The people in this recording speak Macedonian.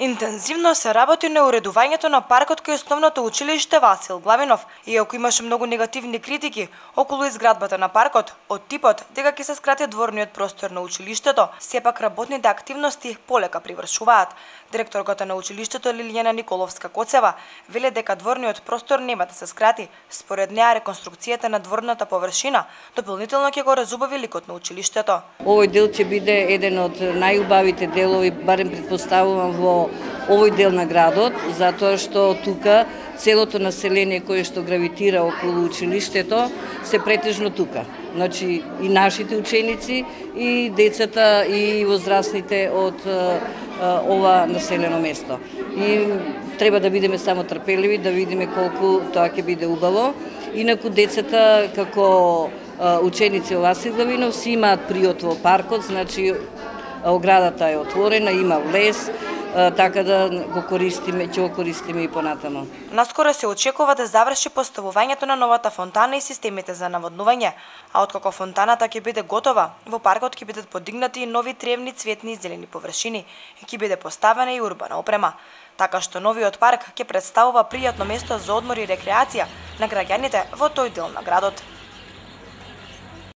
Интензивно се работи на уредувањето на паркот кај основното училиште Васил Главинов, иако имаше многу негативни критики околу изградбата на паркот, од типот дека ќе се скрати дворниот простор на училиштето, сепак работните активности полека привршуваат. Директорката на училиштето Лилијана Николовска-Коцева веле дека дворниот простор нема да се скрати. Според неа реконструкцијата на дворната површина дополнително ќе го разубави ликот на училиштето. Овој дел ќе биде еден од најубавите делови, барем предпоставувам во овој дел на градот, затоа што тука целото население кое што гравитира околу училиштето се претежно тука. Значи и нашите ученици, и децата, и возрастните од ова населено место. И треба да бидеме само трпеливи, да видиме колку тоа ќе биде убаво. Инаку децата како ученици во Васил Главинов си имаат приот во паркот, значи оградата е отворена, има влез, така да го користиме, ќе го користиме и понатаму. Наскоро се очекува да заврши поставувањето на новата фонтана и системите за наводнување, а откако фонтаната ќе биде готова, во паркот ќе бидат подигнати и нови тревни, цветни и зелени површини и ќе биде поставена и урбана опрема. Така што новиот парк ќе представува пријатно место за одмор и рекреација на граѓаните во тој дел на градот.